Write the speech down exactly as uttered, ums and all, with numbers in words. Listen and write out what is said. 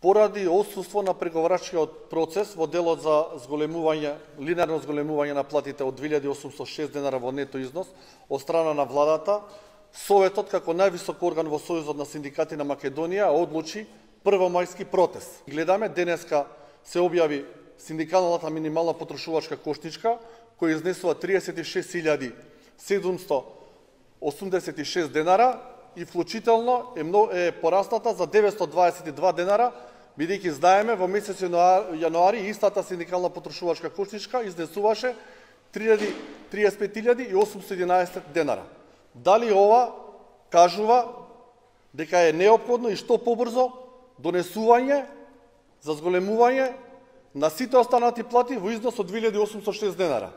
поради отсуство на преговарачкиот процес во делот за зголемување, линеарно зголемување на платите од две илјади осумстотини и шест денара во нето износ од страна на владата, Советот како највисок орган во Сојузот на синдикати на Македонија одлучи првомајски протест. Гледаме, денеска се објави синдикалната минимална потрошувачка кошничка, која изнесува триесет и шест илјади седумстотини осумдесет и шест денара и вклучително е, е порасната за деветстотини дваесет и два денара, бидејќи знаеме во месец јануари истата синдикална потрошувачка кошничка изнесуваше триесет и пет илјади и осумстотини и единаесет денара. Дали ова кажува дека е неопходно и што побрзо донесување за зголемување на сите останати плати во износ од две илјади осумстотини и шест денара?